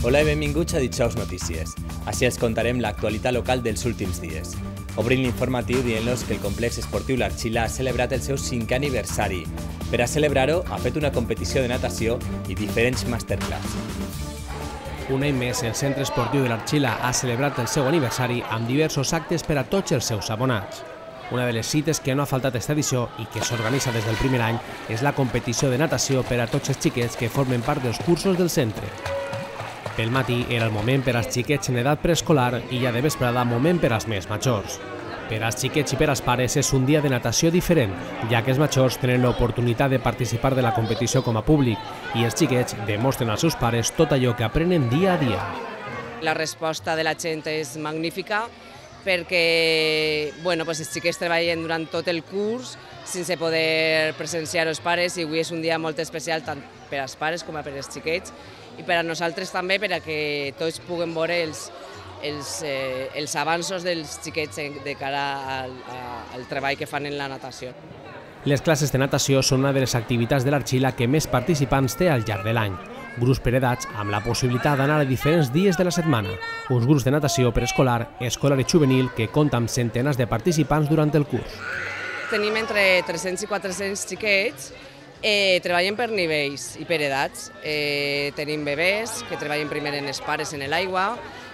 Hola i benvinguts a Dijous Notícies. Així els contarem l'actualitat local dels últims dies. Obrim l'informatiu dient-los que el complex esportiu L'Arxila ha celebrat el seu 5è aniversari. Per a celebrar-ho, ha fet una competició de natació i diferents masterclass. Un any més, el centre esportiu de l'Arxila ha celebrat el seu aniversari amb diversos actes per a tots els seus abonats. Una de les cites que no ha faltat esta edició i que s'organitza des del primer any és la competició de natació per a tots els xiquets que formen part dels cursos del centre. Pel matí era el moment per als xiquets en edat preescolar i ja de vesprada moment per als més majors. Per als xiquets i per als pares és un dia de natació diferent, ja que els majors tenen l'oportunitat de participar de la competició com a públic i els xiquets demostren als seus pares tot allò que aprenen dia a dia. La resposta de la gent és magnífica perquè els xiquets treballen durant tot el curs sense poder presenciar els pares i avui és un dia molt especial tant per als pares com per als xiquets i per a nosaltres també per a que tots puguem veure els avanços dels xiquets de cara al treball que fan en la natació. Les classes de natació són una de les activitats de l'Arxila que més participants té al llarg de l'any. Grups per edats amb la possibilitat d'anar a diferents dies de la setmana. Uns grups de natació preescolar, escolar i juvenil que compta amb centenars de participants durant el curs. Tenim entre 300 i 400 xiquets, treballen per nivells i per edats. Tenim bebès que treballen primer en els pares en l'aigua,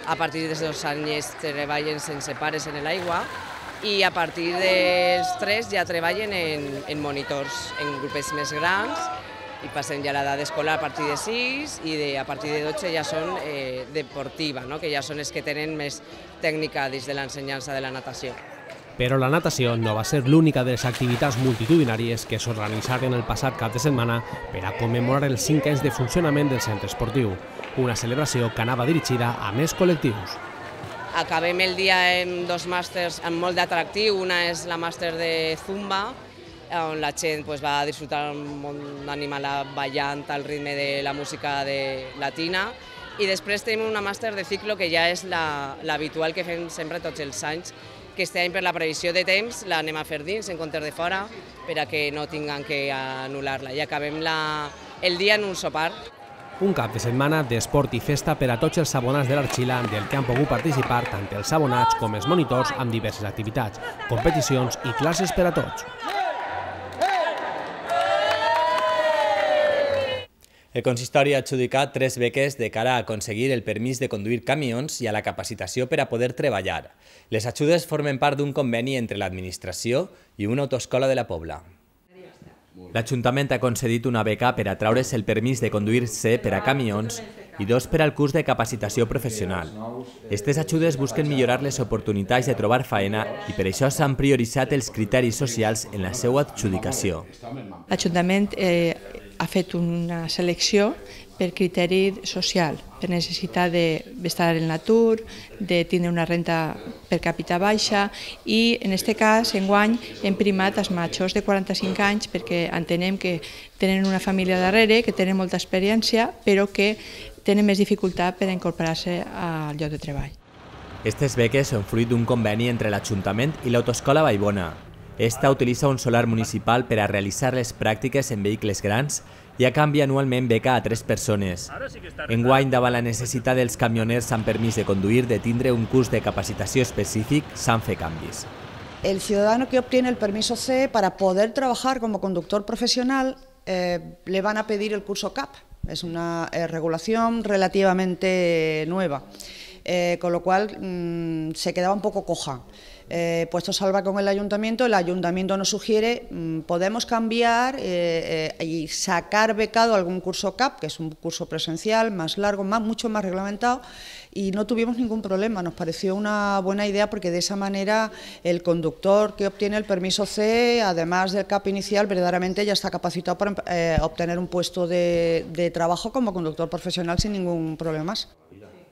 a partir dels 2 anys treballen sense pares en l'aigua i a partir dels 3 ja treballen en monitors, en grupets més grans i passen ja l'edat escolar a partir de 6 i a partir de 12 ja són deportiva, que ja són els que tenen més tècnica dins de l'ensenyança de la natació. Però la natació no va ser l'única de les activitats multitudinàries que s'organitzaren el passat cap de setmana per a commemorar els 5 anys de funcionament del centre esportiu, una celebració que anava dirigida a més col·lectius. Acabem el dia amb 2 màsters amb molt d'atractiu, una és la màster de Zumba, on la gent va disfrutar un animal ballant al ritme de la música latina, i després tenim una màster de ciclo que ja és l'habitual que fem sempre tots els anys, que este any per la previsió de temps l'anem a fer dins en comptes de fora per a que no tinguem que anul·lar-la i acabem el dia en un sopar. Un cap de setmana d'esport i festa per a tots els abonats de l'Arxila del que han pogut participar tant els abonats com els monitors amb diverses activitats, competicions i classes per a tots. El consistori ha adjudicat 3 beques de cara a aconseguir el permís de conduir camions i a la capacitació per a poder treballar. Les ajudes formen part d'un conveni entre l'administració i una autoescola de la Pobla. L'Ajuntament ha concedit una beca per a traure's el permís de conduir-se per a camions i 2 per al curs de capacitació professional. Aquestes ajudes busquen millorar les oportunitats de trobar feina i per això s'han prioritzat els criteris socials en la seva adjudicació. L'Ajuntament ha fet una selecció per criteri social, per necessitat d'estar en l'atur, de tindre una renta per càpita baixa i, en aquest cas, enguany hem primat els majors de 45 anys perquè entenem que tenen una família darrere, que tenen molta experiència, però que tenen més dificultat per incorporar-se al lloc de treball. Aquestes beques són fruit d'un conveni entre l'Ajuntament i l'Autoescola Vallbona. Esta utilitza un solar municipal per a realitzar les pràctiques en vehicles grans i a canvi anualment beca a 3 persones. Enguany, davant la necessitat dels camioners amb permís de conduir de tindre un curs de capacitació específic, s'han fet canvis. El ciudadano que obtiene el permiso C para poder trabajar como conductor profesional le van a pedir el curso CAP. Es una regulación relativamente nueva, con lo cual se quedaba un poco coja. Puesto salva con el ayuntamiento nos sugiere podemos cambiar y sacar becado algún curso CAP, que es un curso presencial más largo, mucho más reglamentado, y no tuvimos ningún problema. Nos pareció una buena idea porque de esa manera el conductor que obtiene el permiso C, además del CAP inicial, verdaderamente ya está capacitado para obtener un puesto de trabajo como conductor profesional sin ningún problema más.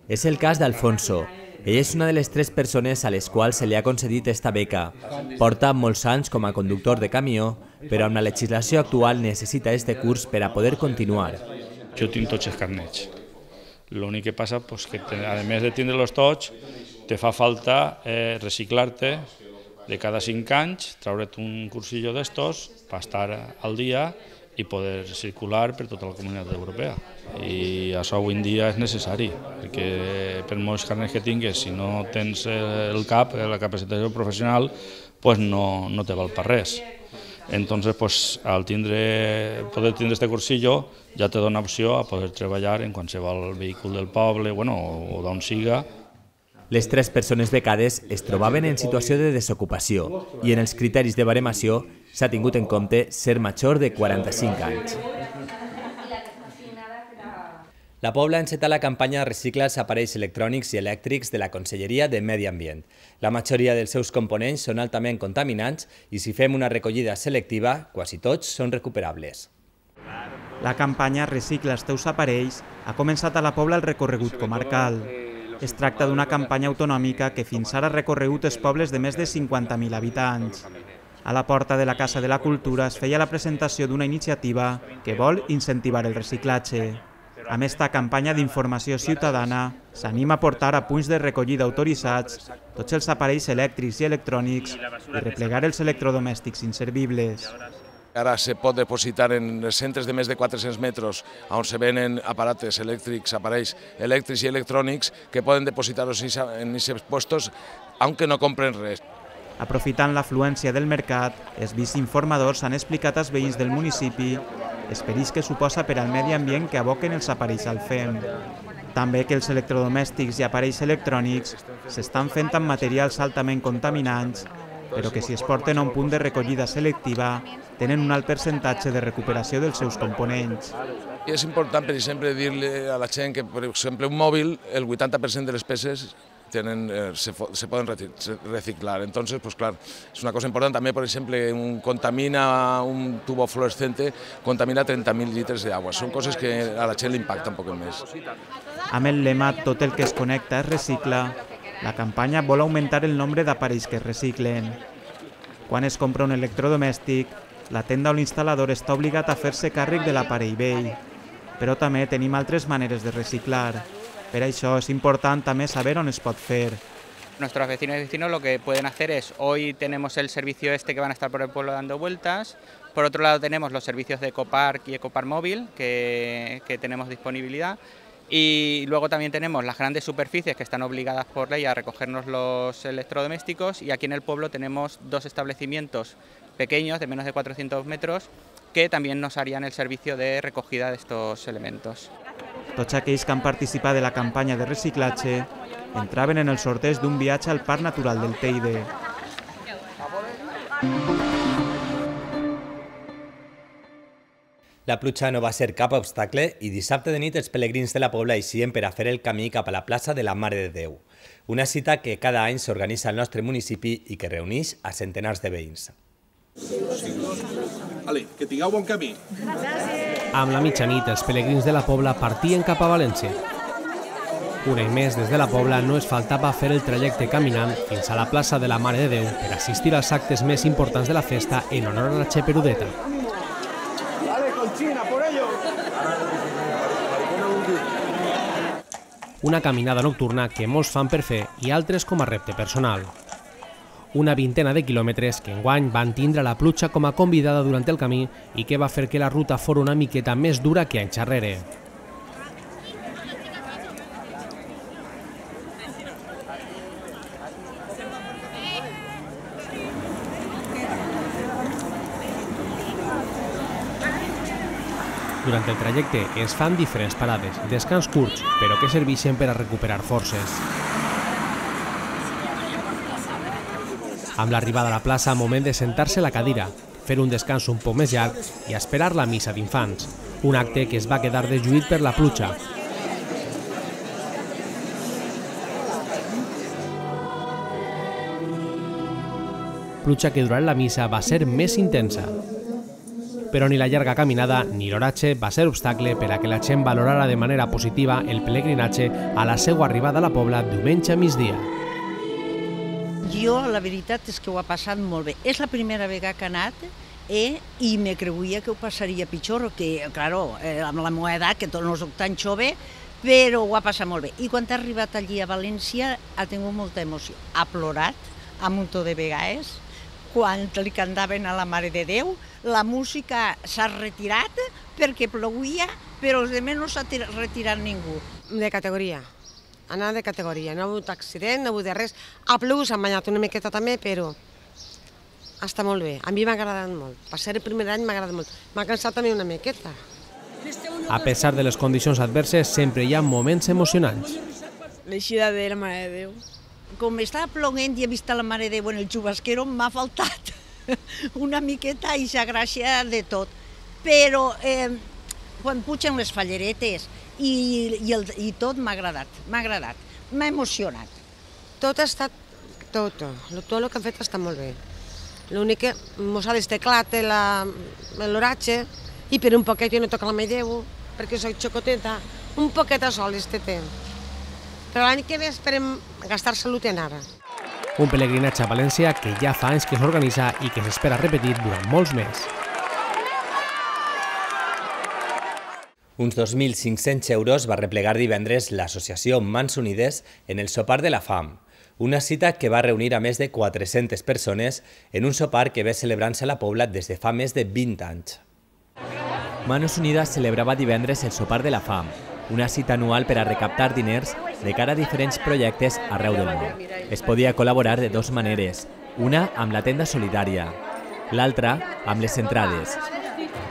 És el cas d'Alfonso. Ell és una de les 3 persones a les quals se li ha concedit aquesta beca. Porta molts anys com a conductor de camió, però amb la legislació actual necessita este curs per a poder continuar. Jo tinc tots els carnets. L'únic que passa és que, a més de tindre-los tots, te fa falta reciclar-te de cada 5 anys, traure't un cursillo d'estos per estar al dia i poder circular per tota la comunitat europea. I això avui en dia és necessari, perquè per molts carnets que tingues, si no tens el CAP, la capacitació professional, pues no te val per res. Entonces, al poder tindre este cursillo, ja te dona opció a poder treballar en qualsevol vehicle del poble, o d'on siga. Les 3 persones becades es trobaven en situació de desocupació i en els criteris de baremació s'ha tingut en compte ser major de 45 anys. La Pobla ha encetat la campanya Recicla els aparells electrònics i elèctrics de la Conselleria de Medi Ambient. La majoria dels seus components són altament contaminants i si fem una recollida selectiva, quasi tots són recuperables. La campanya Recicla els teus aparells ha començat a la Pobla el recorregut comarcal. Es tracta d'una campanya autonòmica que fins ara ha recorregut els pobles de més de 50.000 habitants. A la porta de la Casa de la Cultura es feia la presentació d'una iniciativa que vol incentivar el reciclatge. Amb esta campanya d'informació ciutadana s'anima a portar a punts de recollida autoritzats tots els aparells elèctrics i electrònics i replegar els electrodomèstics inservibles. Ara se pot depositar en els centres de més de 400 metres on se venen aparates elèctrics, aparells elèctrics i electrònics que poden depositar-los en aquests puestos, aunque no compren res. Aprofitant l'afluència del mercat, els viceïnformadors han explicat als veïns del municipi els perills que suposa per al medi ambient que aboquen els aparells al FEM. També que els electrodomèstics i aparells electrònics s'estan fent amb materials altament contaminants, però que si es porten a un punt de recollida selectiva tenen un alt percentatge de recuperació dels seus components. És important, per exemple, dir-li a la gent que, per exemple, un mòbil, el 80% de les peces se poden reciclar. Entonces, pues claro, es una cosa importante. También, por ejemplo, un tubo fluorescente contamina 30.000 litres de agua. Son cosas que a la gent le impacta un poc més. Amb el lema "Tot el que es connecta es recicla", la campanya vol augmentar el nombre d'aparells que es reciclen. Quan es compra un electrodomèstic, la tenda o l'instal·lador està obligat a fer-se càrrec de l'aparell vell. Però també tenim altres maneres de reciclar. Per això és important també saber on es pot fer. Nuestros vecinos y vecinos lo que pueden hacer es, hoy tenemos el servicio que van a estar por el pueblo dando vueltas, por otro lado tenemos los servicios de Ecopark y Ecopark Móvil que tenemos disponibilidad, y luego también tenemos las grandes superficies que están obligadas por ley a recogernos los electrodomésticos, y aquí en el pueblo tenemos 2 establecimientos pequeños de menos de 400 metros que también nos harían el servicio de recogida de estos elementos. Tots aquells que han participat de la campanya de reciclatge entraven en el sorteig d'un viatge al Parc Natural del Teide. La pluja no va ser cap obstacle i dissabte de nit els pelegrins de la Pobla eixien per a fer el camí cap a la plaça de la Mare de Déu. Una cita que cada any s'organitza al nostre municipi i que reuneix a centenars de veïns. Que tingueu bon camí. Amb la mitjanit, els pelegrins de la Pobla partien cap a València. Un any més, des de la Pobla no es faltava fer el trajecte caminant fins a la plaça de la Mare de Déu per assistir als actes més importants de la festa en honor a la Che Perudeta. Una caminada nocturna que molts fan per fer i altres com a repte personal. Una vintena de quilòmetres que enguany van tindre la pluja com a convidada durant el camí i que va fer que la ruta fos una miqueta més dura que anys enrere. Durant el trajecte es fan diferents parades, descans curts, però que serveixen per a recuperar forces. Amb l'arribada a la plaça, moment de sentar-se a la cadira, fer un descans un poc més llarg i esperar la missa d'infants, un acte que es va quedar deslluït per la pluja. Pluja que durant la missa va ser més intensa. Però ni la llarga caminada ni l'oratge va ser obstacle per a que la gent valorara de manera positiva el pelegrinatge a la seva arribada a la Pobla diumenge a migdia. Jo, la veritat és que ho ha passat molt bé. És la primera vegada que he anat i me creuia que ho passaria pitjor, que, claro, amb la meva edat, que no soc tan jove, però ho ha passat molt bé. I quan ha arribat allí a València ha tingut molta emoció. Ha plorat un muntó de vegades. quan li cantaven a la Mare de Déu, la música s'ha retirat perquè plouia, però els altres no s'ha retirat ningú. De categoria, anar de categoria, no ha hagut accident, no ha hagut res. Ha plogut, s'ha banyat una miqueta també, però està molt bé. A mi m'ha agradat molt. Per ser el primer any m'ha agradat molt. M'ha cansat també una miqueta. A pesar de les condicions adverses, sempre hi ha moments emocionants. L'eixida de la Mare de Déu. Com estava ploguent i he vist la Mare de Déu en el xubasquero, m'ha faltat una miqueta i s'ha gràcia de tot. Però quan pugen les falleretes i tot m'ha agradat, m'ha emocionat. Tot ha estat, tot el que han fet està molt bé. L'únic que mos ha desteclat l'oratge i per un poquet jo no toco la Mare de Déu perquè soc xocoteta, un poquet a sol este temps. Però l'any que ve esperem gastar salut en ara. Un pelegrinatge a València que ja fa anys que s'organitza i que s'espera repetir durant molts més. Uns 2.500 euros va replegar divendres l'associació Mans Unides en el sopar de la fam, una cita que va reunir a més de 400 persones en un sopar que ve celebrant-se a la Pobla des de fa més de 20 anys. Manos Unidas celebrava divendres el sopar de la fam, una cita anual per a recaptar diners de cara a diferents projectes arreu del món. Es podia col·laborar de dues maneres, una amb la tenda solidària, l'altra amb les entrades.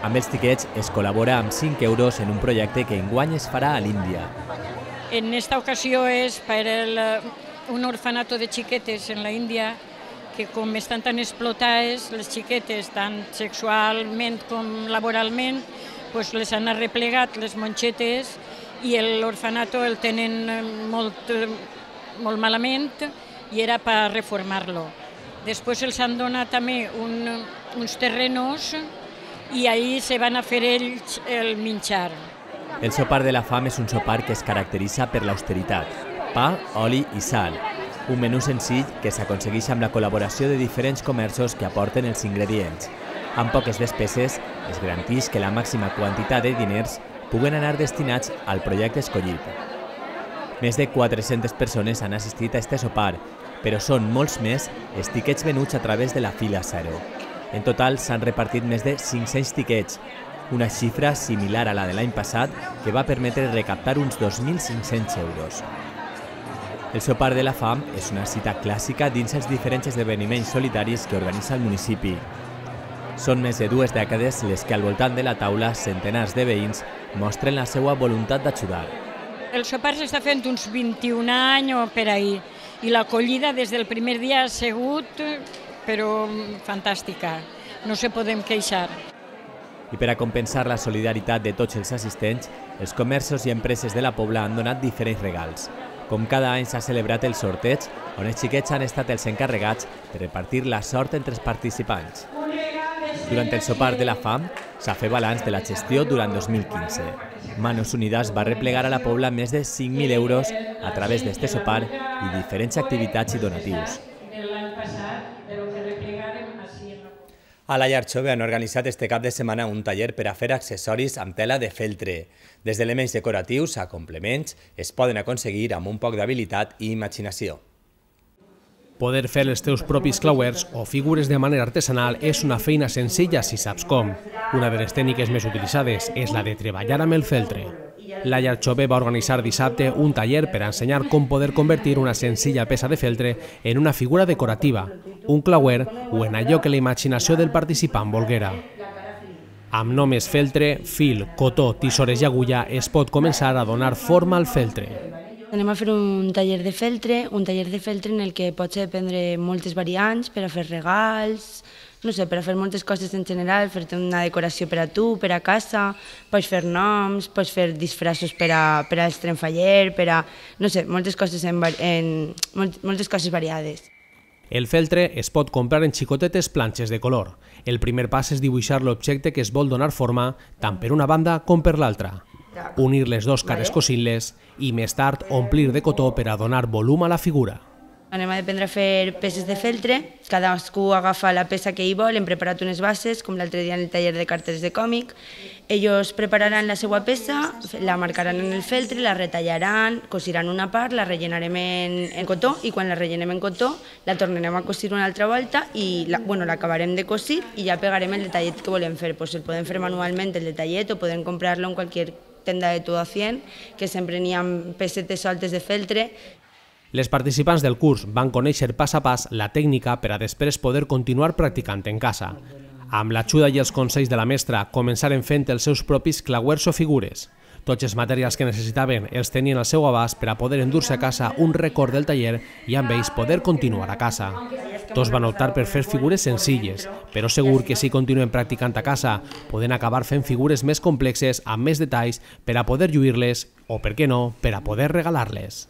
Amb els tiquets es col·labora amb 5 euros en un projecte que enguany es farà a l'Índia. En esta ocasió és per un orfanato de xiquetes en la Índia que com estan tan explotades les xiquetes, tant sexualment com laboralment, les han arreplegat les monxetes i l'orfanato el tenen molt malament i era per reformar-lo. Després els han donat també uns terrenos i ahí se van a fer ells el menjar. El sopar de la fam és un sopar que es caracteritza per l'austeritat, pa, oli i sal. Un menú senzill que s'aconsegueix amb la col·laboració de diferents comerços que aporten els ingredients. Amb poques despeses, es garanteix que la màxima quantitat de diners puguen anar destinats al projecte escollit. Més de 400 persones han assistit a este sopar, però són molts més els tiquets venuts a través de la fila zero. En total s'han repartit més de 500 tiquets, una xifra similar a la de l'any passat que va permetre recaptar uns 2.500 euros. El sopar de la fam és una cita clàssica dins els diferents esdeveniments solitaris que organitza el municipi. Són més de 2 dècades les que al voltant de la taula centenars de veïns mostren la seva voluntat d'ajudar. El sopar s'està fent uns 21 anys o per ahir i l'acollida des del primer dia ha sigut però fantàstica, no se podem queixar. I per a compensar la solidaritat de tots els assistents, els comerços i empreses de la Pobla han donat diferents regals. Com cada any s'ha celebrat el sorteig, on els xiquets han estat els encarregats de repartir la sort entre els participants. Durant el sopar de la fam s'ha fet balanç de la gestió durant 2015. Manos Unidas va replegar a la Pobla més de 5.000 euros a través d'este sopar i diferents activitats i donatius. A la Llar Jove han organitzat este cap de setmana un taller per a fer accessoris amb tela de feltre. Des d'elements decoratius a complements es poden aconseguir amb un poc d'habilitat i imaginació. Poder fer els teus propis clauers o figures de manera artesanal és una feina senzilla si saps com. Una de les tècniques més utilitzades és la de treballar amb el feltre. La Llar Jove va organitzar dissabte un taller per a ensenyar com poder convertir una senzilla peça de feltre en una figura decorativa, un clauer o en allò que la imaginació del participant volguera. Amb només feltre, fil, cotó, tisores i agulla es pot començar a donar forma al feltre. Anem a fer un taller de feltre en el que pots aprendre moltes variants per a fer regals, no sé, per a fer moltes coses en general, fer una decoració per a tu, per a casa, pots fer noms, pots fer disfressos per als tremfaller, per a, no sé, moltes coses variades. El feltre es pot comprar en xicotetes planxes de color. El primer pas és dibuixar l'objecte que es vol donar forma tant per una banda com per l'altra. Unir les dues cares cosint-les i més tard omplir de cotó per a donar volum a la figura. Anem a aprendre a fer peces de feltre, cadascú agafa la peça que hi vol, hem preparat unes bases, com l'altre dia en el taller de cartes de còmic. Ells prepararan la seva peça, la marcaran en el feltre, la retallaran, cosiran una part, la rellenarem en cotó i quan la rellenem en cotó la tornarem a cosir una altra volta i l'acabarem de cosir i ja pegarem el detallet que volem fer. El podem fer manualment el detallet o podem comprar-lo en qualsevol tenda de todo a 100, que sempre n'hi ha pesetes soltes de feltre. Les participants del curs van conèixer pas a pas la tècnica per a després poder continuar practicant en casa. Amb l'ajuda i els consells de la mestra començaren fent els seus propis clauers o figures. Tots els materials que necessitaven els tenien al seu abast per a poder endur-se a casa un record del taller i amb ells poder continuar a casa. Tots van optar per fer figures senzilles, però segur que si continuen practicant a casa poden acabar fent figures més complexes amb més detalls per a poder lluir-les o, per què no, per a poder regalar-les.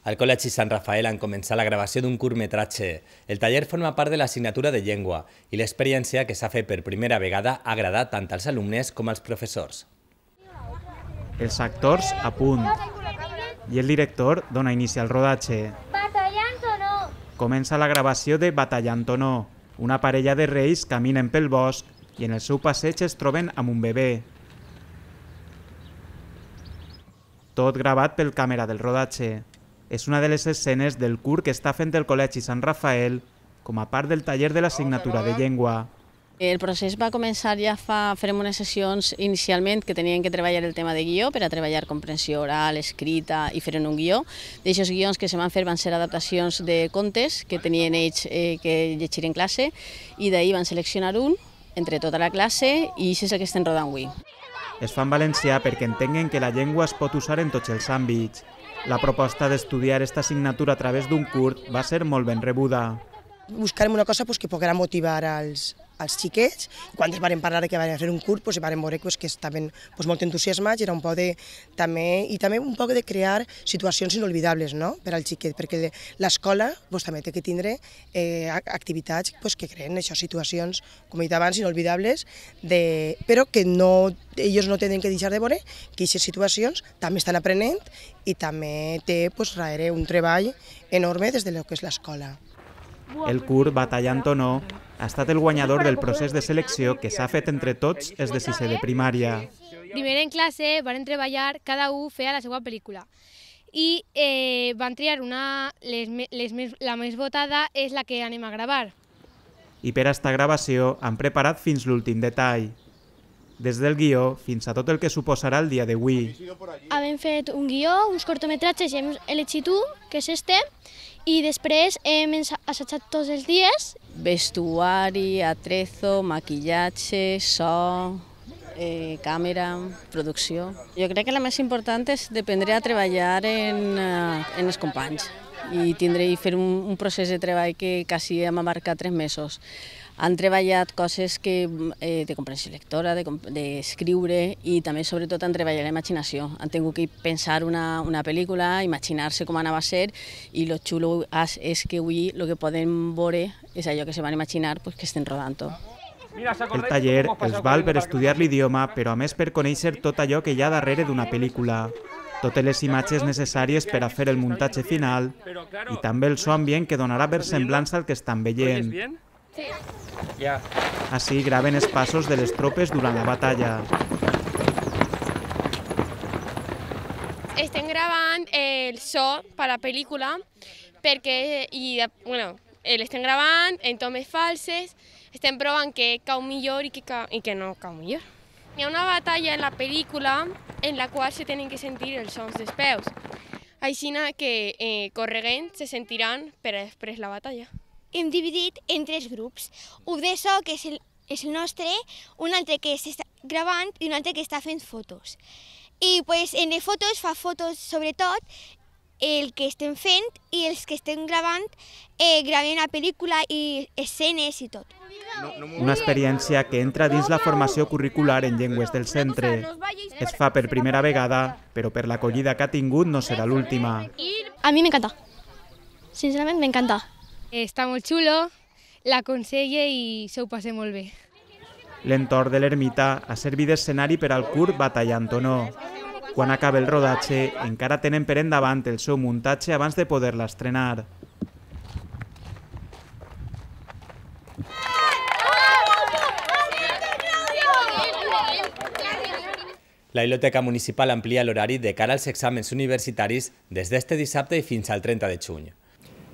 Al Col·legi Sant Rafael han començat la gravació d'un curtmetratge. El taller forma part de l'assignatura de llengua i l'experiència que s'ha fet per primera vegada ha agradat tant als alumnes com als professors. Els actors a punt i el director dona inici al rodatge. Batallant o no? Comença la gravació de Batallant o no. Una parella de reis caminen pel bosc i en el seu passeig es troben amb un bebè. Tot gravat pel càmera del rodatge. És una de les escenes del curt que està fent el Col·legi Sant Rafael com a part del taller de l'assignatura de llengua. El procés va començar ja farem unes sessions inicialment que tenien que treballar el tema de guió per a treballar comprensió oral, escrita i fer un guió. D'aixòs guions que se van fer van ser adaptacions de contes que tenien ells que llegir en classe i d'ahir van seleccionar un entre tota la classe i això és el que estem rodant avui. Es fa en valencià perquè entenguen que la llengua es pot usar en tots els àmbits. La proposta d'estudiar aquesta assignatura a través d'un curt va ser molt ben rebuda. Buscarem una cosa que poguera motivar als xiquets. Quan es van parlar que van fer un curt, van veure que estaven molt entusiasmats i era un poc també un poc de crear situacions inolvidables per al xiquet, perquè l'escola també té que tindre activitats que creen situacions, com he dit abans, inolvidables, però que ells no tenen que deixar de veure que aquestes situacions també estan aprenent i també té darrere un treball enorme des del que és l'escola. El curt Batallant o no ha estat el guanyador del procés de selecció que s'ha fet entre tots els de sisè de primària. Primer en classe van treballar, cada un feia la seva pel·lícula i van triar la més votada és la que anem a gravar. I per a esta gravació han preparat fins l'últim detall, des del guió fins a tot el que suposarà el dia d'avui. Hem fet un guió, uns cortometratges i hem elegit un, que és este, i després hem assajat tots els dies. Vestuari, atrezo, maquillatge, so, càmera, producció. Jo crec que la més important és aprendre a treballar en els companys i fer un procés de treball que quasi hem abarcat 3 mesos. Han treballat coses de comprensió lectora, d'escriure i també sobretot han treballat la imaginació. Han tingut que pensar una pel·lícula, imaginar-se com anava a ser i el xulo és que avui el que podem veure és allò que se van imaginar que estem rodant-ho. El taller els val per estudiar l'idioma, però a més per conèixer tot allò que hi ha darrere d'una pel·lícula. Totes les imatges necessàries per a fer el muntatge final i també el so ambient que donarà versemblança al que estan veient. Així graven els passos de les tropes durant la batalla. Estem gravant el so per a la pel·lícula perquè l'estem gravant en tomes falses, estem provant que cau millor i que no cau millor. Hi ha una batalla en la pel·lícula en la qual se tenen que sentir els sons dels peus, així que corregant se sentiran per a després la batalla. Hem dividit en 3 grups, un de so, que és el nostre, un altre que s'està gravant i un altre que està fent fotos. I en les fotos fa fotos sobretot el que estem fent i els que estem gravant gravem la pel·lícula i escenes i tot. Una experiència que entra dins la formació curricular en llengües del centre. Es fa per primera vegada, però per l'acollida que ha tingut no serà l'última. A mi m'encanta, sincerament m'encanta. Està molt xulo, l'aconselle i s'ho passa molt bé. L'entorn de l'ermita ha servit d'escenari per al curt Batallant o no. quan acaba el rodatge, encara tenen per endavant el seu muntatge abans de poder-la estrenar. La Biblioteca Municipal amplia l'horari de cara als exàmens universitaris des d'este dissabte i fins al 30 de juny.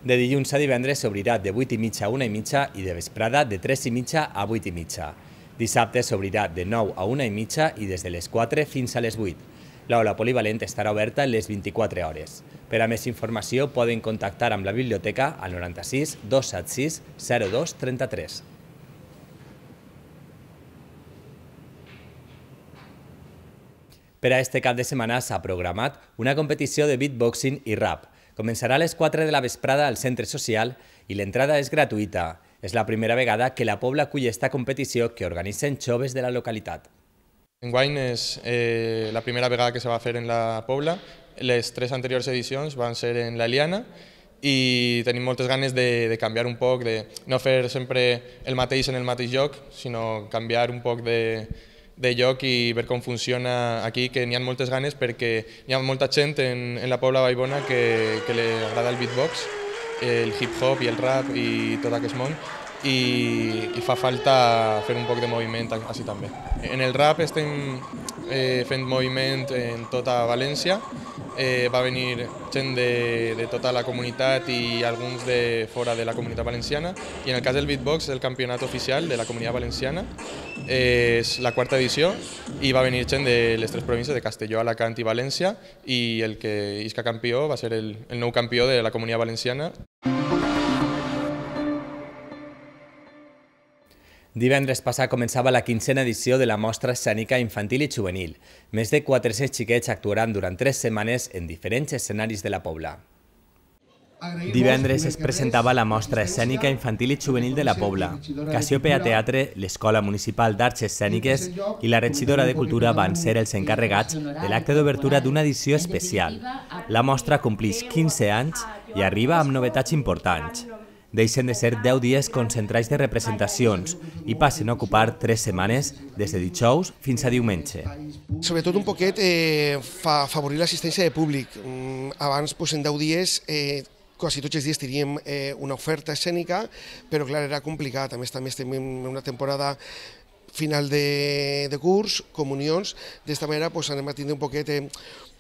De dilluns a divendres s'obrirà de 8:30 a 1:30 i de vesprada de 3:30 a 8:30. Dissabte s'obrirà de 9 a 1:30 i des de les 4 fins a les 8. L'aula polivalent estarà oberta les 24 hores. Per a més informació poden contactar amb la biblioteca al 96 276 02 33. Per a este cap de setmana s'ha programat una competició de beatboxing i rap. Començarà a les 4 de la vesprada al centre social i l'entrada és gratuïta. És la primera vegada que la Pobla acull esta competició que organitzen joves de la localitat. Enguany és la primera vegada que se va fer en la Pobla. Les 3 anteriors edicions van ser en la Liana i tenim moltes ganes de canviar un poc, de no fer sempre el mateix en el mateix lloc, sinó canviar un poc de lloc i ver com funciona aquí, que n'hi ha moltes ganes perquè hi ha molta gent en la Pobla Vallbona que li agrada el beatbox, el hip-hop i el rap i tot aquest món, i fa falta fer un poc de moviment així també. En el rap estem fent moviment en tota València, va venir gent de tota la comunitat i alguns de fora de la comunitat valenciana, i en el cas del beatbox és el campionat oficial de la comunitat valenciana, és la 4ª edició i va venir gent de les 3 províncies de Castelló, Alacant i València, i el que isca campió va ser el nou campió de la comunitat valenciana. Divendres passat començava la 15a edició de la Mostra Escènica Infantil i Juvenil. Més de 400 xiquets actuaran durant 3 setmanes en diferents escenaris de la Pobla. Divendres es presentava la Mostra Escènica Infantil i Juvenil de la Pobla. Cassiopeia Teatre, l'Escola Municipal d'Arts Escèniques i la regidora de Cultura van ser els encarregats de l'acte d'obertura d'una edició especial. La mostra complix 15 anys i arriba amb novetats importants. Deixen de ser 10 dies concentrats de representacions i passen a ocupar 3 setmanes des de dijous fins a diumenge. Sobretot un poquet favorir l'assistència de públic. Abans, en 10 dies, quasi tots els dies teníem una oferta escènica, però clar, era complicat. A més, també estem en una temporada final de curs, comunions. D'esta manera anem a tindre un poquet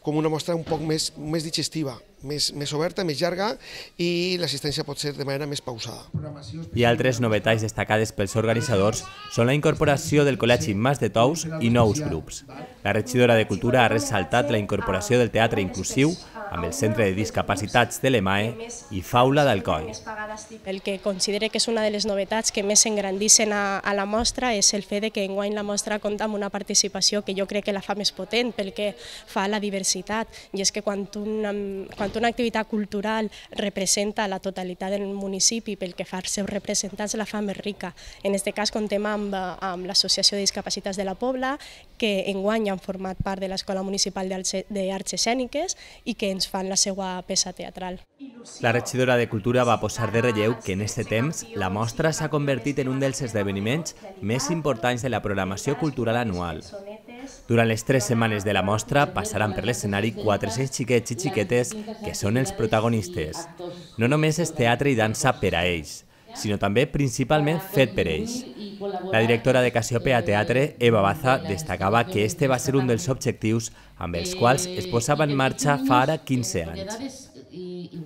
com una mostra un poc més digestiva, més oberta, més llarga, i l'assistència pot ser de manera més pausada. I altres novetats destacades pels organitzadors són la incorporació del Col·legi Mas de Tous i nous grups. La regidora de Cultura ha ressaltat la incorporació del teatre inclusiu amb el Centre de Discapacitats de l'EMAE i Faula d'Alcoi. El que considero que és una de les novetats que més s'engrandissin a la mostra és el fet que enguany la mostra compta amb una participació que jo crec que la fa més potent pel que fa a la diversitat, i és que quan una activitat cultural representa la totalitat del municipi pel que fa als seus representants la fa més rica. En aquest cas comptem amb l'Associació de Discapacitats de la Pobla, que enguany han format part de l'Escola Municipal d'Arts Escèniques i que ens fan la seva peça teatral. La regidora de Cultura va posar de relleu que en aquest temps la mostra s'ha convertit en un dels esdeveniments més importants de la programació cultural anual. Durant les 3 setmanes de la mostra passaran per l'escenari 400 xiquets i xiquetes que són els protagonistes. No només és teatre i dansa per a ells, sinó també principalment fet per ells. La directora de Cassiopeia Teatre, Eva Baza, destacava que este va ser un dels objectius amb els quals es posava en marxa fa ara 15 anys.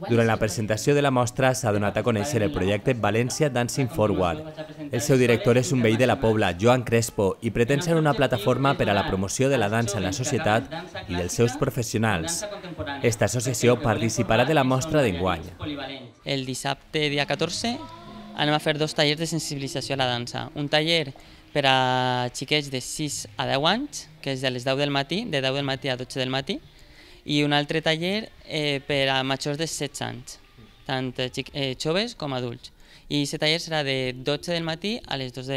Durant la presentació de la mostra s'ha donat a conèixer el projecte València Dancing Forward. El seu director és un veí de la Pobla, Joan Crespo, i pretén ser una plataforma per a la promoció de la dansa en la societat i dels seus professionals. Esta associació participarà de la mostra d'enguany. El dissabte, dia 14, anem a fer 2 tallers de sensibilització a la dansa. Un taller per a xiquets de 6 a 10 anys, que és de les 10 del matí, de 10 del matí a 12 del matí, i un altre taller per a majors de 16 anys, tant joves com adults. I aquest taller serà de 12 del matí a les 2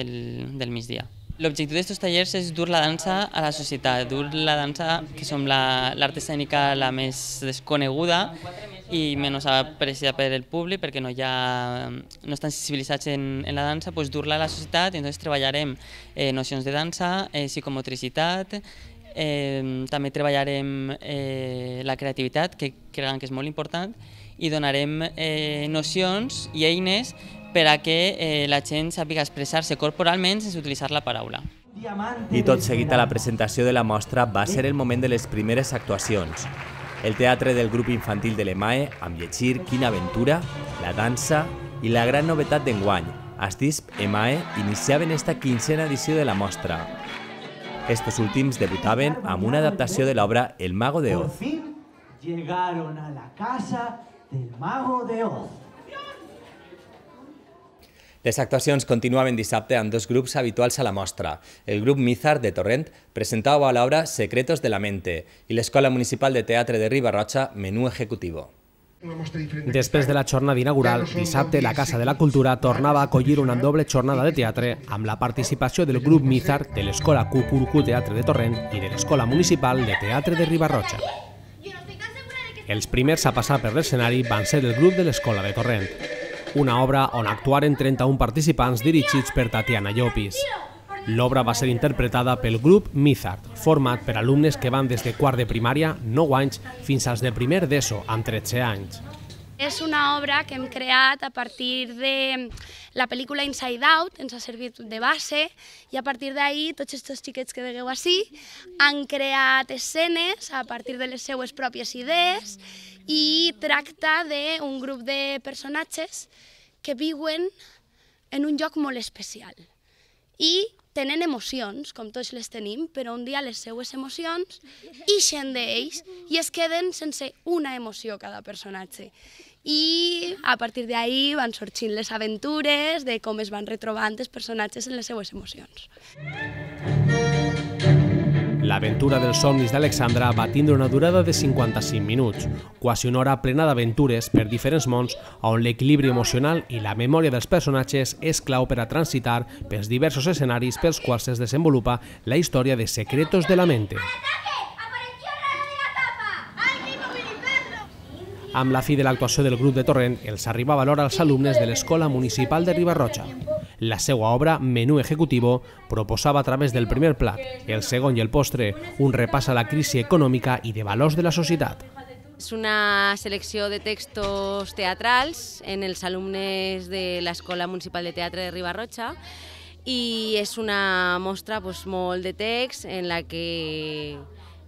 del migdia. L'objectiu d'aquests tallers és dur la dansa a la societat, dur la dansa, que som l'art escènica la més desconeguda i menys apreciada per el públic, perquè no estan sensibilitzats en la dansa, dur-la a la societat, i entonces treballarem nocions de dansa, psicomotricitat, també treballarem la creativitat, que creiem que és molt important, i donarem nocions i eines per a que la gent sàpiga expressar-se corporalment sense utilitzar la paraula. I tot seguit a la presentació de la mostra va ser el moment de les primeres actuacions. El teatre del grup infantil de l'EMAE, amb Llegir, Quina aventura, la dansa i la gran novetat d'enguany, Astisp EMAE, iniciaven esta 15a edició de la mostra. Estos últims debutaven amb una adaptació de l'obra El Mago de Oz. Por fin llegaron a la casa del Mago de Oz. Les actuacions continuaven dissabte amb dos grups habituals a la mostra. El grup Mizar de Torrent presentava l'obra Secretos de la mente i l'Escola Municipal de Teatre de Riba-roja Menú Ejecutivo. Després de la jornada inaugural, dissabte la Casa de la Cultura tornava a acollir una doble jornada de teatre amb la participació del grup Mizar de l'Escola Cucurucú Teatre de Torrent i de l'Escola Municipal de Teatre de Riba-roja. Els primers a passar per l'escenari van ser el grup de l'Escola de Torrent, una obra on actuaren 31 participants dirigits per Tatiana Llopis. L'obra va ser interpretada pel grup Mizar, format per alumnes que van des de quart de primària, 9 anys, fins als de primer d'ESO, amb 13 anys. És una obra que hem creat a partir de la pel·lícula Inside Out, ens ha servit de base, i a partir d'ahir tots aquests xiquets que veieu ací han creat escenes a partir de les seues pròpies idees i tracta d'un grup de personatges que viuen en un lloc molt especial i tenen emocions, com tots les tenim, però un dia les seues emocions ixen d'ells i es queden sense una emoció cada personatge. I a partir d'ahir van sorgint les aventures de com es van retrobant els personatges en les seues emocions. L'aventura dels somnis d'Alexandra va tindre una durada de 55 minuts, quasi una hora plena d'aventures per diferents mons on l'equilibri emocional i la memòria dels personatges és clau per a transitar pels diversos escenaris pels quals es desenvolupa la història de Secretos de la mente. Amb la fi de l'actuació del grup de Torrent, els arribava l'hora als alumnes de l'Escola Municipal de Riba-roja. La seva obra, Menú Ejecutivo, proposava a través del primer plat, el segon i el postre, un repàs a la crisi econòmica i de valors de la societat. És una selecció de textos teatrals en els alumnes de l'Escola Municipal de Teatre de Riba-roja i és una mostra molt de text en la que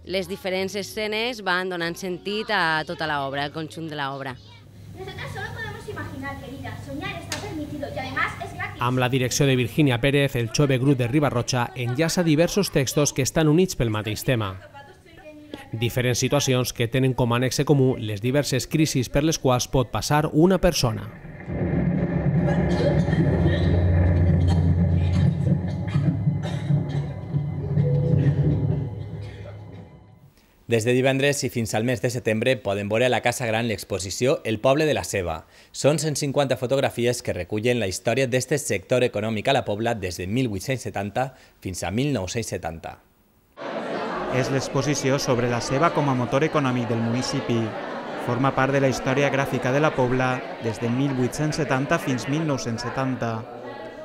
les diferents escenes van donant sentit a tota l'obra, al conjunt de l'obra. Nosotras solo podemos imaginar, querida, soñar está permitido y además es gratis. Amb la direcció de Virginia Pérez, el jove grup de Riba-roja enllaça diversos textos que estan units pel mateix tema. Diferents situacions que tenen com a nexe comú les diverses crisis per les quals pot passar una persona. Des de divendres i fins al mes de setembre poden veure a la Casa Gran l'exposició El poble de la ceba. Són 150 fotografies que recullen la història d'este sector econòmic a la Pobla des de 1870 fins a 1970. És l'exposició sobre la ceba com a motor econòmic del municipi. Forma part de la història gràfica de la Pobla des de 1870 fins 1970.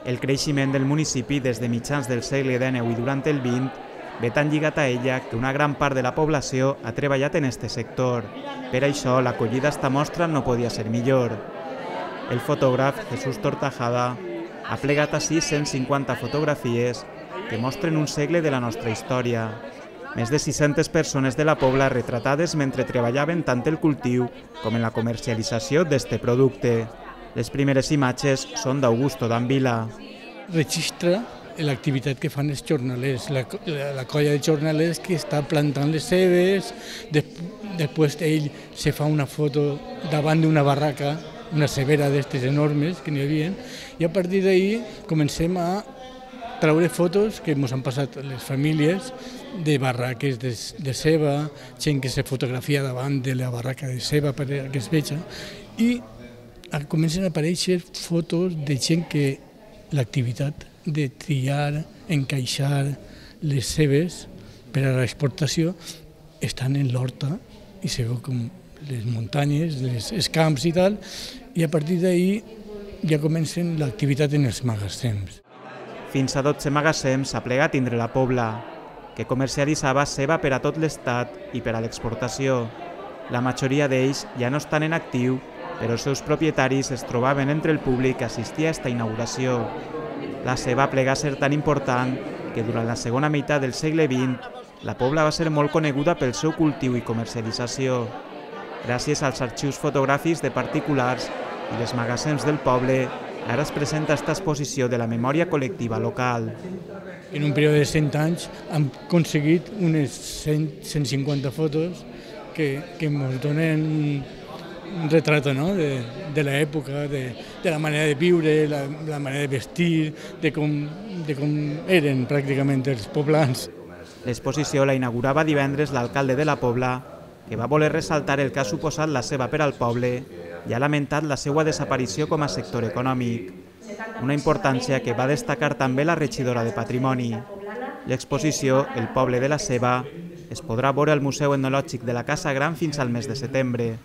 El creixement del municipi des de mitjans del segle XIX i durant el XX ve tan lligat a ella que una gran part de la població ha treballat en este sector. Per això, l'acollida a esta mostra no podia ser millor. El fotògraf Jesús Tortajada ha plegat ací 150 fotografies que mostren un segle de la nostra història. Més de 600 persones de la Pobla retratades mentre treballaven tant el cultiu com en la comercialització d'este producte. Les primeres imatges són d'Augusto Danvila. Registra l'activitat que fan els jornalers, la colla de jornalers que està plantant les cebes, després ell se fa una foto davant d'una barraca, una cebera d'aquestes enormes que n'hi havia, i a partir d'ahir comencem a treure fotos que ens han passat les famílies de barraques de ceba, gent que se fotografia davant de la barraca de ceba perquè es veja, i comencen a aparèixer fotos de gent que l'activitat de triar, encaixar les cebes per a l'exportació estan en l'horta i se veu com les muntanyes, els camps i tal, i a partir d'ahir ja comencen l'activitat en els magatzems. Fins a 12 magatzems s'ha plegat tindre la Pobla. que comercialitzava ceba per a tot l'estat i per a l'exportació. La majoria d'ells ja no estan en actiu, però els seus propietaris es trobaven entre el públic que assistia a esta inauguració. La ceba plega a ser tan important que durant la segona meitat del segle XX la Pobla va ser molt coneguda pel seu cultiu i comercialització. Gràcies als arxius fotogràfics de particulars i dels magatzems del poble, ara es presenta esta exposició de la memòria col·lectiva local. En un període de 100 anys hem aconseguit unes 150 fotos que ens donen un retrat de l'època, de la manera de viure, la manera de vestir, de com eren pràcticament els poblans. L'exposició la inaugurava divendres l'alcalde de la Pobla, que va voler ressaltar el que ha suposat la ceba per al poble i ha lamentat la seva desaparició com a sector econòmic. Una importància que va destacar també la regidora de Patrimoni. L'exposició El poble de la ceba es podrà veure al Museu Etnològic de la Casa Gran fins al mes de setembre.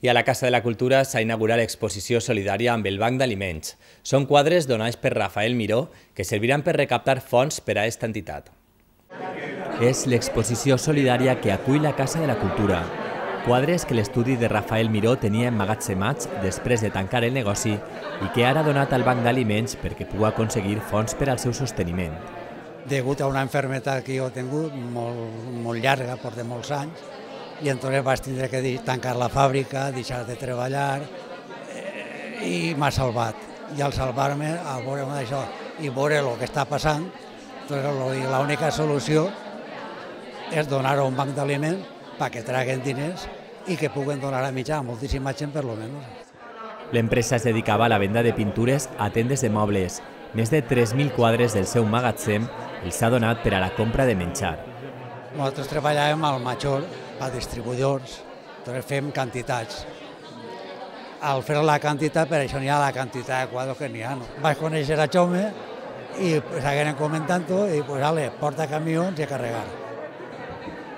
I a la Casa de la Cultura s'ha inaugurat l'exposició solidària amb el Banc d'Aliments. Són quadres donats per Rafael Miró que serviran per recaptar fons per a aquesta entitat. És l'exposició solidària que acull la Casa de la Cultura. Quadres que l'estudi de Rafael Miró tenia emmagatzemats després de tancar el negoci i que ara ha donat al Banc d'Aliments perquè pugui aconseguir fons per al seu sosteniment. Degut a una malaltia que jo he tingut molt llarga, porta molts anys, i entonces vaig tindre que tancar la fàbrica, deixar de treballar i m'ha salvat. I al salvar-me, al veure això i veure el que està passant, l'única solució és donar-ho a un banc d'aliments perquè traguen diners i que puguen donar a mitjà a moltíssima gent per lo menos. L'empresa es dedicava a la venda de pintures a tendes de mobles. Més de 3.000 quadres del seu magatzem els ha donat per a la compra de menjar. Nosaltres treballàvem al major, a distribuïdors, doncs fem quantitats. Al fer la quantitat, per això n'hi ha la quantitat de quadres que n'hi ha. Vaig conèixer a Jaume i seguirem comentant-ho i porta camions i a carregar.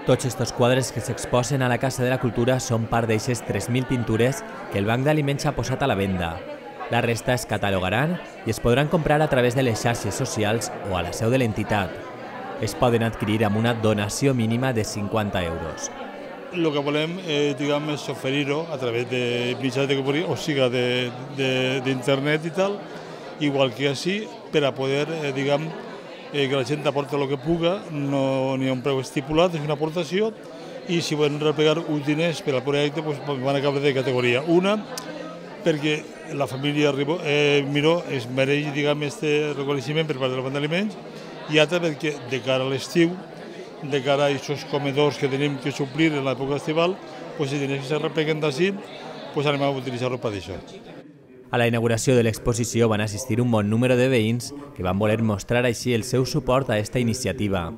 Tots aquests quadres que s'exposen a la Casa de la Cultura són part d'aixes 3.000 pintures que el Banc d'Aliments ha posat a la venda. La resta es catalogaran i es podran comprar a través de les xarxes socials o a la seu de l'entitat. Es poden adquirir amb una donació mínima de 50 euros. El que volem és oferir-ho a través de mitjans de comunicació, o sigui, d'internet i tal, igual que així, per a poder, que la gent aporta el que puga, no n'hi ha un preu estipulat, és una aportació, i si volen replegar uns diners per al projecte, van a caure de categoria. Una, perquè la família Miró es mereix aquest reconeixement per part del Banc d'Aliments, i altra perquè de cara a l'estiu, de cara a aquests comedors que tenim que suplir en l'època estival, si diners que se repleguen d'ací, anem a utilitzar-ho per això. A la inauguració de l'exposició van assistir un bon número de veïns que van voler mostrar així el seu suport a aquesta iniciativa.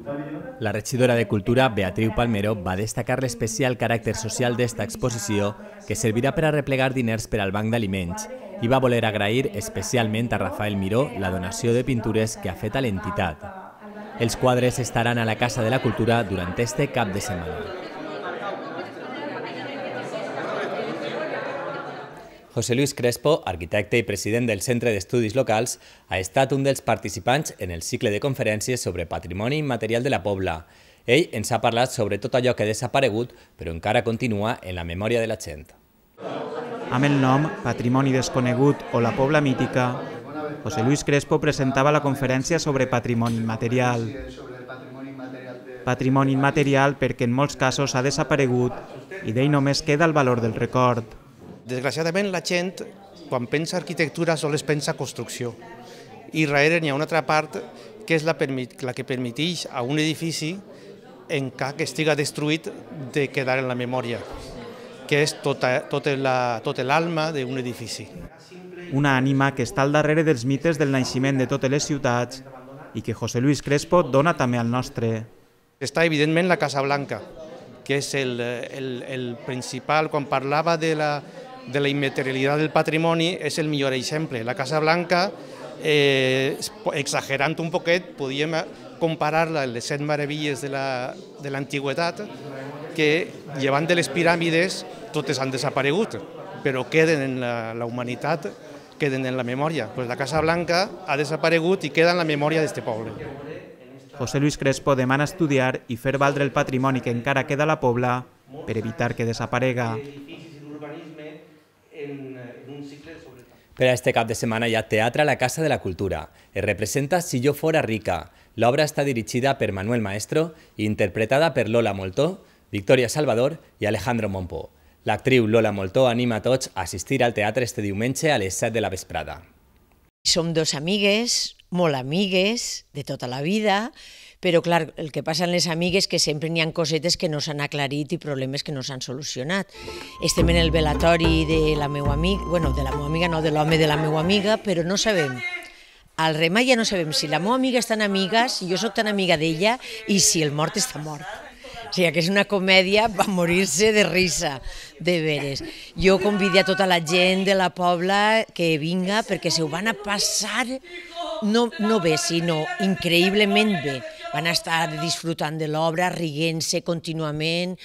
La regidora de Cultura, Beatriu Palmero, va destacar l'especial caràcter social d'esta exposició que servirà per a replegar diners per al Banc d'Aliments i va voler agrair especialment a Rafael Miró la donació de pintures que ha fet a l'entitat. Els quadres estaran a la Casa de la Cultura durant este cap de setmana. José Luis Crespo, arquitecte i president del Centre d'Estudis Locals, ha estat un dels participants en el cicle de conferències sobre patrimoni immaterial de la Pobla. Ell ens ha parlat sobre tot allò que ha desaparegut, però encara continua en la memòria de la gent. Amb el nom Patrimoni desconegut o la Pobla mítica, José Luis Crespo presentava la conferència sobre patrimoni immaterial. Patrimoni immaterial perquè en molts casos ha desaparegut i d'ell només queda el valor del record. Desgraciadament la gent, quan pensa arquitectura, sols pensa construcció. I darrere n'hi ha una altra part que és la que permeteix a un edifici, en cas que estiga destruït, de quedar en la memòria, que és tota l'alma d'un edifici. Una ànima que està al darrere dels mites del naixement de totes les ciutats i que José Luis Crespo dona també al nostre. Està evidentment la Casa Blanca, que és el principal, quan parlava de la immaterialitat del patrimoni, és el millor exemple. La Casa Blanca, exagerant un poquet, podíem comparar-la amb les 7 meravelles de l'antigüetat, que llevant de les piràmides totes han desaparegut, però queden en la humanitat queden en la memòria. Pues la Casa Blanca ha desaparegut i queda en la memòria d'aquest poble. José Luis Crespo demana estudiar i fer valdre el patrimoni que encara queda a la Pobla per evitar que desaparega. Per a este cap de setmana hi ha teatre a la Casa de la Cultura. Es representa Si jo fora rica. L'obra està dirigida per Manuel Maestro i interpretada per Lola Moltó, Victoria Salvador i Alejandro Monpó. L'actriu Lola Moltó anima a tots a assistir al teatre este diumenge a les 7 de la vesprada. Som dos amigues, molt amigues, de tota la vida, però clar, el que passa en les amigues que sempre n'hi ha cosetes que no s'han aclarit i problemes que no s'han solucionat. Estem en el velatori de la meva amiga, bueno, de la meva amiga no, de l'home de la meva amiga, però no sabem. Al remar ja no sabem si la meva amiga és tan amiga, si jo sóc tan amiga d'ella i si el mort està mort. O sigui, que és una comèdia per morir-se de risa, de veres. Jo convido a tota la gent de la Pobla que vinga perquè se ho van a passar, no bé, sinó increïblement bé. Van a estar disfrutant de l'obra, riguent-se contínuament,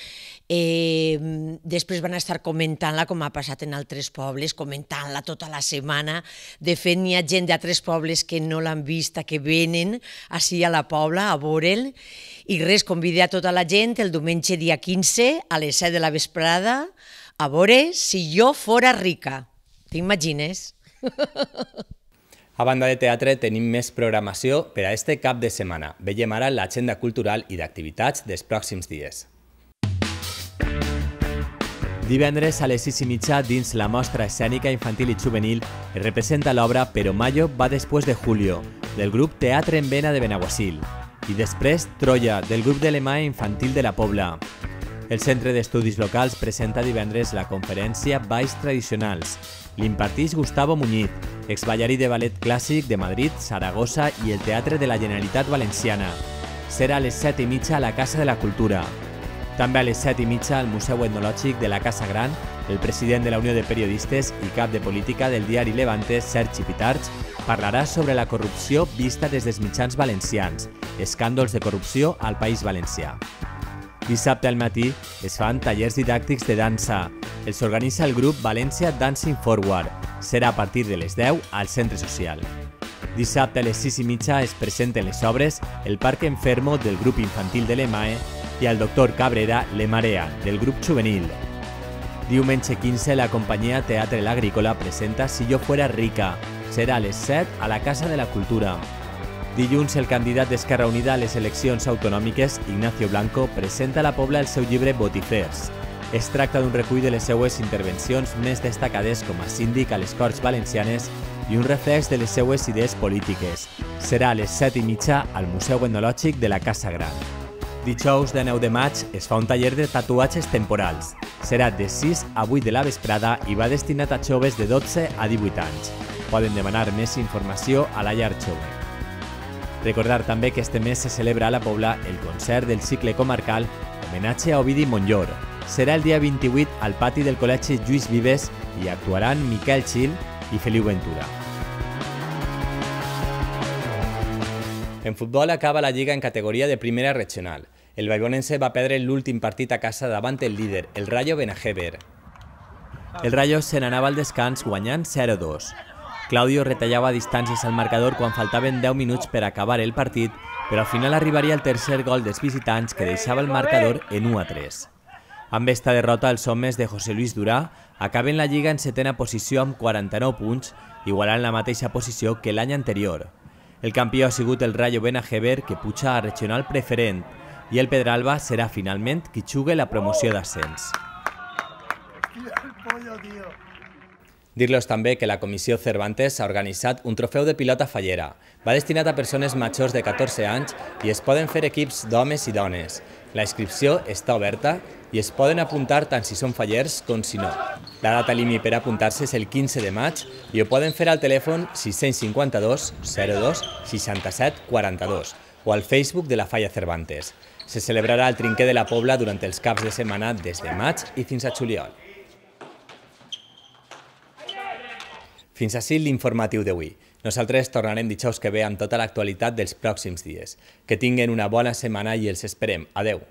després van a estar comentant-la com ha passat en altres pobles, comentant-la tota la setmana. De fet, n'hi ha gent d'altres pobles que no l'han vista, que venen així a la Pobla a veure'l. I res, convido a tota la gent el diumenge dia 15 a les 7 de la vesprada a veure Si jo fora rica. T'imagines? A banda de teatre tenim més programació per a este cap de setmana. Veiem ara l'agenda cultural i d'activitats dels pròxims dies. Divendres a les 6:30 dins la mostra escènica infantil i juvenil es representa l'obra Pero Mayo va después de Julio, del grup Teatre en Vena de Benaguasil, i després Troya, del grup de l'EMAE infantil de la Pobla. El Centre d'Estudis Locals presenta divendres la conferència Balls Tradicionals. L'impartix Gustavo Muñiz, exballarí de ballet clàssic de Madrid, Saragossa i el Teatre de la Generalitat Valenciana. Serà a les 7:30 a la Casa de la Cultura. També a les 7:30 al Museu Etnològic de la Casa Gran, el president de la Unió de Periodistes i cap de política del diari Levante, Sergi Pitarch, parlarà sobre la corrupció vista des dels mitjans valencians, escàndols de corrupció al País Valencià. Dissabte al matí es fan tallers didàctics de dansa. Els organitza el grup València Dancing Forward. Serà a partir de les 10 al Centre Social. Dissabte a les 6:30 es presenten les obres El Parque Enfermo del grup infantil de l'EMAE i el Doctor Cabrera Le Marea, del grup juvenil. Diumenge 15 la companyia Teatre l'Agrícola presenta Si jo fuera rica. Serà a les 7 a la Casa de la Cultura. Dilluns el candidat d'Esquerra Unida a les eleccions autonòmiques, Ignacio Blanco, presenta a la Pobla el seu llibre Botifers. Es tracta d'un recull de les seues intervencions més destacades com a síndic a les Corts Valencianes i un reflex de les seues idees polítiques. Serà a les 7:30 al Museu Etnològic de la Casa Gran. Dijous de 9 de maig es fa un taller de tatuatges temporals. Serà de 6 a 8 de la vesprada i va destinat a joves de 12 a 18 anys. Poden demanar més informació a la llar jove. Recordar també que este mes se celebra a la Pobla el concert del cicle comarcal Homenatge a Ovidi Montllor. Serà el dia 28 al pati del Col·legi Lluís Vives i actuaran Miquel Gil i Feliu Ventura. En futbol acaba la Lliga en categoria de primera regional. El Baibonense va perdre l'últim partit a casa davant el líder, el Rayo Benajever. El Rayo se n'anava al descans guanyant 0-2. Claudio retallava distàncies al marcador quan faltaven 10 minuts per acabar el partit, però al final arribaria el tercer gol dels visitants que deixava el marcador en 1-3. Amb esta derrota, els homes de José Luis Durà acaben la Lliga en setena posició amb 49 punts, igualant la mateixa posició que l'any anterior. El campió ha sigut el Rayo Benajever, que puja a regional preferent, i el Pedralba serà finalment qui jugue la promoció d'ascens. Dir-los també que la Comissió Cervantes ha organitzat un trofeu de pilota fallera. Va destinat a persones majors de 14 anys i es poden fer equips d'homes i dones. La inscripció està oberta i es poden apuntar tant si són fallers com si no. La data límit per apuntar-se és el 15 de maig i ho poden fer al telèfon 652 02 67 42 o al Facebook de la Falla Cervantes. Se celebrarà el Trinquer de la Pobla durant els caps de setmana des de maig i fins a juliol. Fins ací l'informatiu d'avui. Nosaltres tornarem dijous que ve amb tota l'actualitat dels pròxims dies. Que tinguen una bona setmana i els esperem. Adeu.